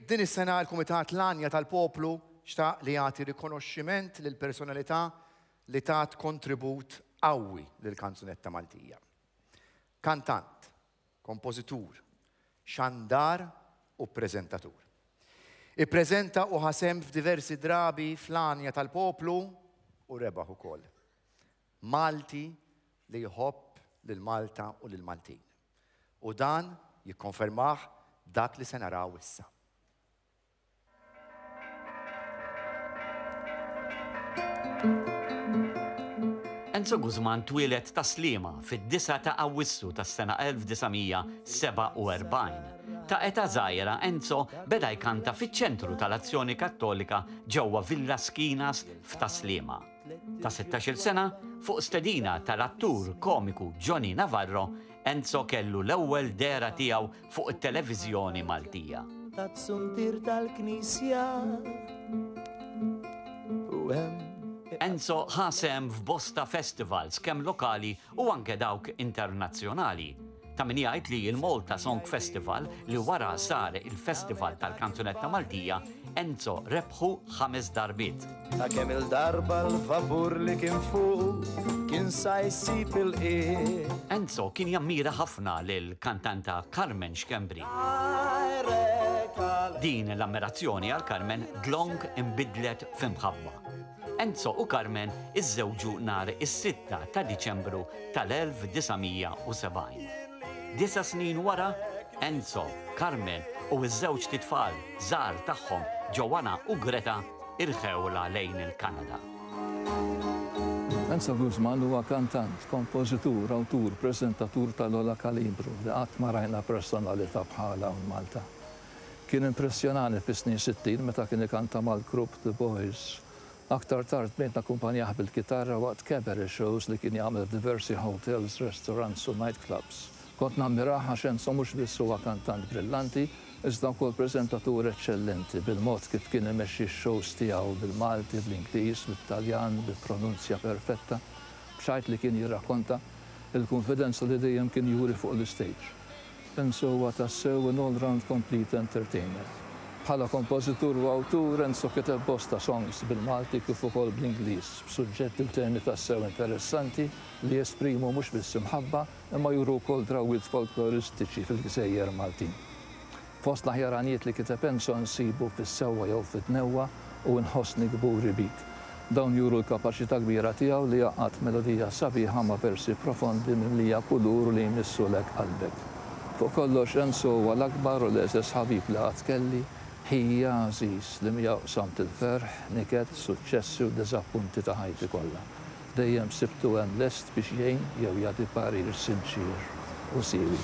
Din is-sena l-Kumitat L-Għanja tal-Poplu xtaq li jagħti rikonoxximent lil personalità li tat kontribut qawwi lill-kanzunetta Maltija. Kantant, kompożitur, xandar u preżentatur. Ippreżenta u ħa sehem f'diversi drabi fl-Għanja tal-Poplu u rebaħ ukoll. Malti li jħobb lil Malta u lill-Maltin. U dan jikkonfermah dak li se naraw issa. Enzo Guzman twieled Tas-Sliema fid-9 ta' Awwissu tas-sena 1947. Ta' età żgħira Enzo beda jkanta fiċ-Ċentru tal-Azzjoni Kattolika ġewwa Villa Schinas f'Tas-Sliema. Ta' sittax-il sena, fuq stedina tal-attur komiku Johnny Navarro, Enzo kellu l-ewwel dehra tiegħu fuq it-televiżjoni Maltija. Tat-suntier tal-knisja u hemm. Enzo ħa sehem f'bosta festivals kemm lokali u anke dawk internazzjonali. Ta' min jgħid li l-Malta Song Festival li wara sar il-Festival tal-Kanzunetta Maltija, Enzo rebħu ħames darbiet. Ta' kemm-il darba l-vapur li kien fuqu kien sa jsib il-qiegħ. Enzo kien jammira ħafna lill-kantanta Carmen Schembri. Din l-ammirazzjoni għal Carmen dlonk inbidlet f'imħabba. Enzo u Carmen iżżewġu nhar is-sitta ta' Diċembru tal-1970. Disa' snin wara, Enzo, Carmen u ż-żewġt itfal żgħar tagħhom Joanna u Greta irħewlha lejn il-Kanada. Enzo Guzman huwa kantant, kompożitur, awtur, preżentatur tal-ogħla kalibru li qatt ma rajna personalità bħalha hawn Malta. Kien impressjonani fis-snin 60 meta kien ikanta mal-grupp The Boys. Aktar tard bdejt nakkumpanjah bil-kitarra waqt cabaret shows li kien jagħmel f'diversi hotels, restaurants u night clubs. Kont nammirah għax Enzo mhux biss huwa kantant brillanti, iżda wkoll preżentatur eċċellenti bil-mod kif kien imexxi x-shows tiegħu bil-Malti, bl-Ingliż, bit-Taljan, bi pronunzja perfetta, b'xajt li kien jirrakkonta, il-kunfidenza li dejjem kien juri fuq l-istage. Enzo huwa tassew an all round complete entertainer. Bħala kompożitur u awtur, Enzo kiteb bosta songs bil-Malti kif ukoll bl-Ingliż, b'suġġetti u temi tassew interessanti li jesprimu mhux biss imħabba imma juru wkoll drawwiet folkloristiċi fil-gżejjer Maltin. Fost l-aħjar għanjiet li kiteb Enzo nsibu Fis-Sewwa jew Fid-Dnewwa u Inħossni Kburi Bik. Dawn juru l-kapaċità kbira tiegħu li jgħaqqad melodija sabiħa ma' versi profondi mimlija kulur u li jmissulek qalbek. Fuq kollox, Enzo huwa l-akbar u l-egħżeż ħabib li qatt kelli, ħija għażiż li miegħu qsamt il-ferħ, niket, suċċessi u diżappunti ta' ħajti kollha. Dejjem sibtu hemm lest biex jgħin jew jagħti parir sinċier u siewi.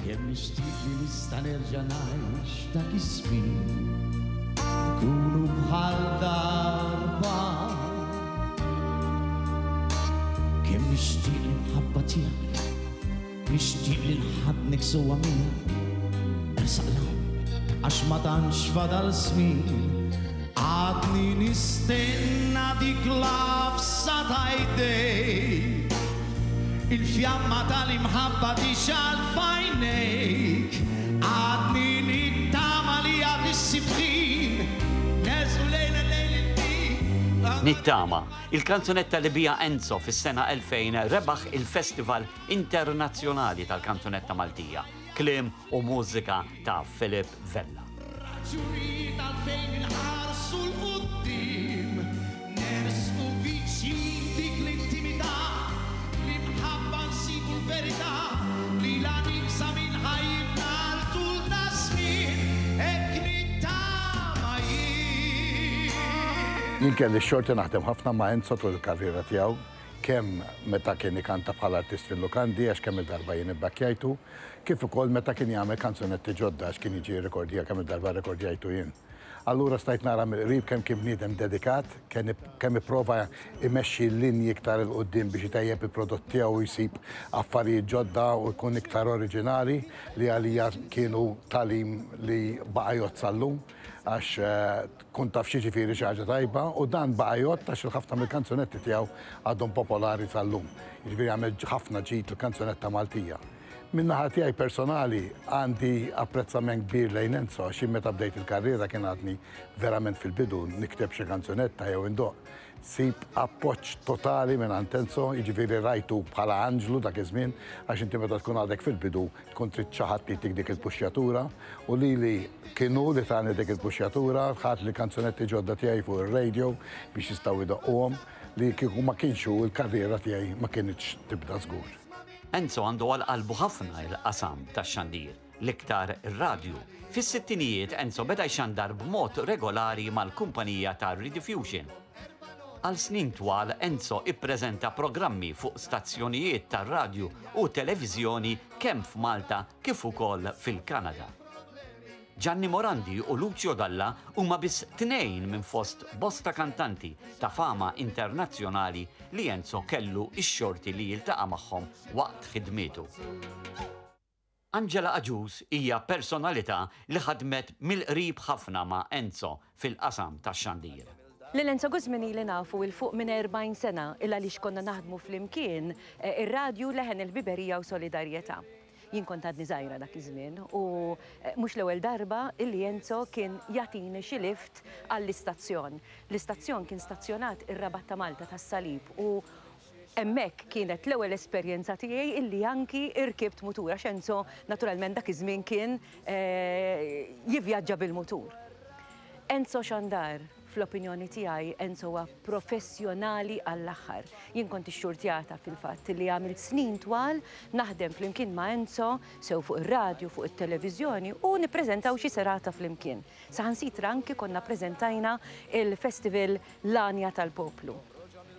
Kemm nixtieq li nista' nerġa' ngħix dak iż-żmien Nkunu bħal darba Kemm nixtieq l-imħabba tiegħek Nixtieq li nħaddnek sewwa miegħek Ersaq 'l hawn għax ma tantx fadal żmien Għadni nistenna dik l-għafsa ta' jdejk Il-fjamma tal-imħabba tixgħal f'għajnejk Għadni nittama li għad issib ħin Nersqu lejla lejl il-din Nittama, il-kanzunetta li biha Enzo fis-sena 2000 rebaħ il-Festival Internazzjonali tal-Kanzunetta Maltija, kliem u mużika ta' Philip Vella. Raġunijiet għalfejn inħarsu 'l quddiem, nersqu viċin dik l-intimità, fl-imħabba nsibu l-verità, lilha nieqsa minn ħajjitna għal tul ta' żmien, hekk nittama jien. Jien kelli x-xorti naħdem ħafna ma' Enzo tul il-karriera tiegħu. kemm meta kien ikanta bħala artist fil-lukandi għax kemm-il darba jien ibbakkjajtu, kif ukoll meta kien jagħmel kanzunetti ġodda għax kien jiġi jirrikordja kemm-il darba rrekordjajtu jien. Allura stajt nara mill-qrib kemm kien bniedem dedikat, kemm ipprova jmexxi l-linji iktar 'il quddiem biex itejjeb il-prodott tiegħu u jsib affarijiet ġodda u jkun iktar oriġinali li għalija kienu tagħlim li baqa' jgħodd sal-lum għax Tkun taf x'jiġifieri xi ħaġa tajba u dan baqa' jgħodd għax il-ħafna mill-kanzunetti tiegħu għadhom popolari sal-lum. Jiġifieri għamel ħafna ġid lill-kanzunetta Maltija. Min-naħa tiegħi personali għandi apprezzament kbir lejn Enzo għax jien meta bdejt il-karriera kien għadni verament fil-bidu nikteb xi kanzunetta jew indoqq. Sib appoġġ totali mingħand Enzo, jiġifieri rajtu bħala anġlu dak iż-żmien għax inti meta tkun għadek fil-bidu tkun trid xi ħadd li jtik dik il-puxxjatura u lili kien hu li tani dik il-puxxjatura, ħadt li kanzunetti ġodda tiegħi fuq ir-radio biex jistgħu jdoqquhom li kieku ma kienx hu l-karriera tiegħi ma kinitx tibda żgur. Enzo għandu għal qalbu ħafna il-qasam tax-xandir, l-iktar ir-radju. Fis-sittinijiet Enzo beda jxandar b'mod regolari mal-kumpanija ta' Rediffusion. Għal snin twal Enzo ippreżenta programmi fuq stazzjonijiet tar-radju u televiżjoni kemm f'Malta kif ukoll fil-Kanada. Gianni Morandi u Lucio Dalla huma biss tnejn minn fost bosta kantanti ta' fama internazzjonali li Enzo kellu x-xorti li jiltaqa' magħhom waqt ħidmietu. Angela Agius hija personalità li ħadmet mill-qrib ħafna ma' Enzo fil-qasam tax-xandir. Lil Enzo Gusman ili nafu 'il fuq minn 40 sena il għaliex konna naħdmu flimkien ir-radju Leħen il-Ħbiberija u Solidarjetà. Jien kont għadni żgħira dak iż-żmien u mhux l-ewwel darba illi Enzo kien jagħtini xi lift għall-istazzjon. L-istazzjon kien stazzjonat ir-Rabat ta' Malta tas-Salib u hemmhekk kienet l-ewwel esperjenza tiegħi illi anki rkibt mutur għax Enzo naturalment dak iż-żmien kien jivvjaġġa bil-mutur. Enzo Xandar. Fl-opinjoni tiegħi Enzo huwa professjonali għall-aħħar. Jien kont ixxurtjata fil-fatt li għamilt snin twal naħdem flimkien ma' Enzo sew fuq ir-radju, fuq it-televiżjoni u nippreżentaw xi serata flimkien. Saħansitra anki konna ppreżentajna il-festival L-Għanja tal-Poplu.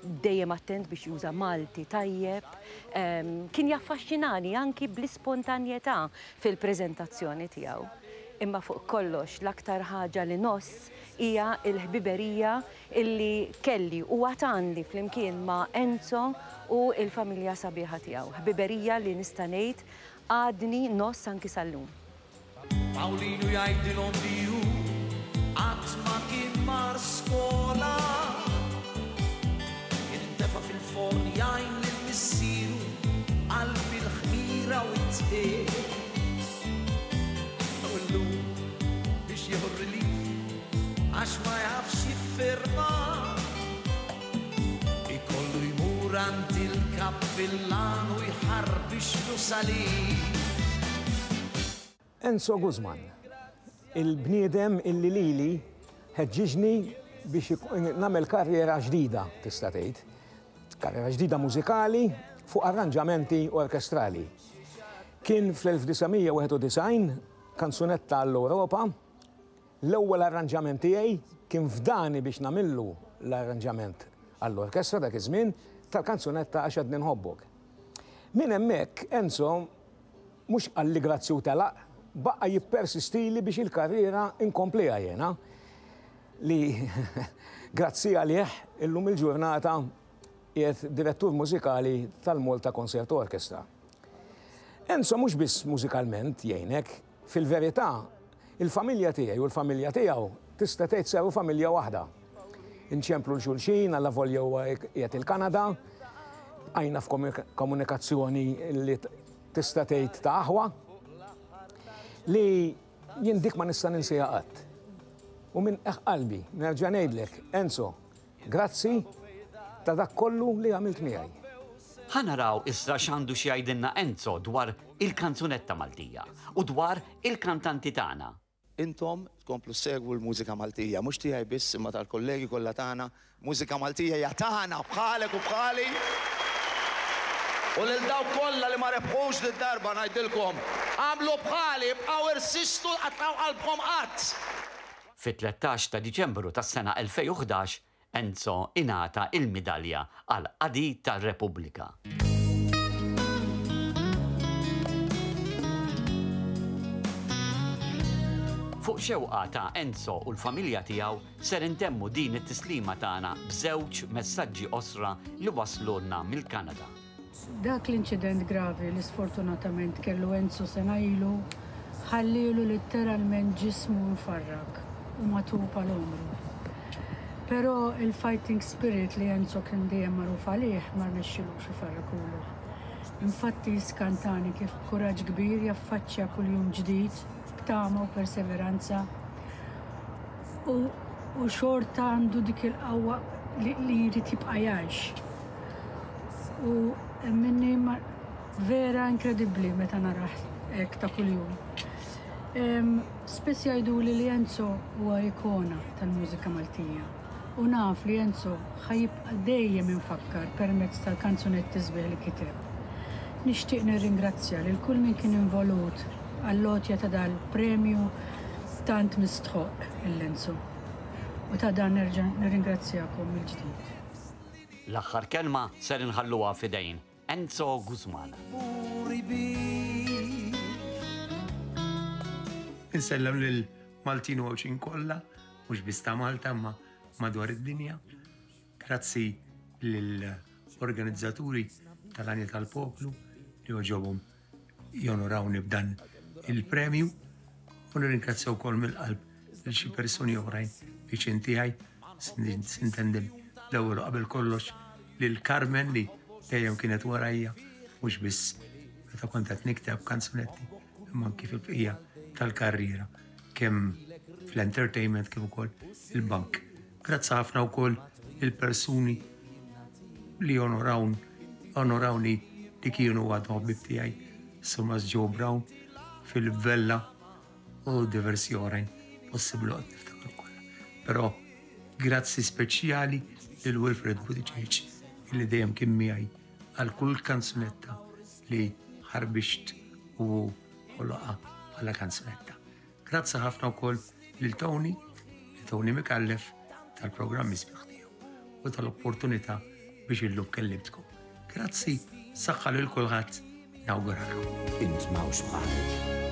Dejjem attent biex juża Malti tajjeb. Kien jaffaxxinani anki bl-ispontanjetà fil-preżentazzjoni tiegħu. Imma fuq kollox l-aktar ħaġa li ngħożż hija l-ħbiberija illi kelli u għad għandi flimkien ma' Enzo u l-familja sabiħa tiegħu. Ħbiberija li nista' ngħid għadni ngħożż anki sal-lum. Pawlinu jgħidilhom li hu qatt ma kien mar skola. Kien intefa' fil-forn jgħin lil missieru qalb il-ħmira u t-dqiq. U llum biex jieħu r-relief għax ma jafx jiffirma ikollu jmur għand il-kappillan u jħarbixlu salib. Enzo Guzman, il-bniedem illi lili ħeġġiġni biex nagħmel karriera ġdida, tista' tgħid. Karriera ġdida mużikali fuq arranġamenti orkestrali. Kien fl-1991 kanzunetta għall-Ewropa, l-ewwel arranġament tiegħi kien fdani biex nagħmillu l-arranġament għall-orkestra dak iż-żmien tal-kanzunetta Għax Għadni Nħobbok. Minn hemmhekk Enzo mhux qalli grazzi u telaq, baqa' jippersistili biex il-karriera nkompliha jiena li grazzi għalih illum il-ġurnata qiegħed direttur mużikali tal-Malta Concert Orchestra. Enzo mhux biss mużikalment jgħinek, fil-verità il-familja tiegħi u l-familja tiegħu tista' tgħid saru familja waħda. Inċemplu 'l xulxin allavolja huwa qiegħed il-Kanada, bqajna f'komunikazzjoni li tista' tgħid ta' aħwa li jien dik ma nista' ninsiha qatt. U minn qiegħ qalbi nerġa' ngħidlek, Enzo, Grazzi ta' dak kollu li għamilt miegħi. Ħa naraw issa x'għandu xi jgħidilna Enzo dwar il-kanzunetta Maltija u dwar il-kantanti tagħna. Intom tkomplu ssegwu l-mużika Maltija, mhux tiegħi biss imma tal-kollegi kollha tagħna. Mużika Maltija hija tagħna, bħalek u bħali. U lil dawk kollha li ma rebħux did-darba ngħidilkom, agħmlu bħali, ibqgħu irsistu tqattgħu qalbkom qatt. Fit-13 ta' Diċembru tas-sena 2011, Enzo ingħata il-midalja għall-Qadi tar-Repubblika. Fuq xewqa ta' Enzo u l-familja tiegħu ser intemmu din it-tislima tagħna b'żewġ messaġġi qosra li waslulna mill-Kanada. Dak l-inċident gravi li sfortunatament kellu Enzo sena ilu ħallielu litteralment ġismu mfarrak u magħtub għal għomru. Però il-fighting spirit li Enzo kien dejjem magħruf għalih ma rnexxilux ifarrakulu. Infatti jiskantani kif b'kuraġġ kbir jaffaċċja kull jum ġdid b'tama u perseveranza u u xorta għandu dik il-qawwa li li jrid jibqa' jgħix. U emminni ma vera inkredibbli meta narah hekk ta' kuljum. Spiss jgħiduli li Enzo huwa ikona tal-mużika Maltija. U naf li Enzo ħa jibqa' dejjem imfakkar permezz tal-kanzunetti sbieħ li kiteb. Nixtieq nirringrazzja lil kull min kien involut għall-għotja ta' dal-premju tant mistħoqq lil Enzo. U ta' dan nerġa' nirringrazzjakom mill-ġdid. L-aħħar kelma ser inħalluha f'idejn Enzo Gusman. Insellem lil Maltin u Għawdxin kollha mhux biss ta' Malta imma madwar id-dinja. Grazzi lill-organizzaturi tal-Għanja tal-Poplu li għoġobhom jonorawni b'dan il-premju u nirringrazzja wkoll mill-qalb lil xi persuni oħrajn viċin tiegħi sintendi l-ewwel qabel kollox lil Carmen li dejjem kienet warajja mhux biss meta kont qed nikteb kanzunetti imma anki fil-bqija tal-karriera kemm fl-entertainment kif ukoll il-bank. Grazzi ħafna wkoll il-persuni li onorawn onorawni li kienu għadhom ħbib tiegħi, Sumas Joe Brown, Philip Vella u diversi oħrajn possibbli qed niftakar kollha. Però grazzi speċjali lil Wilfred Buttigieg illi dejjem kien miegħi għal kull kanzunetta li ħarbixt u ħoloqha bħala kanzunetta. Grazzi ħafna wkoll lil Tony, lil Tony Micallef tal-programmi sbieħ tiegħu u tal-opportunità biex illum kellimtkom. Grazzi, saħħa lil kulħadd, nawguralkom. Int m'hawnx bħalek.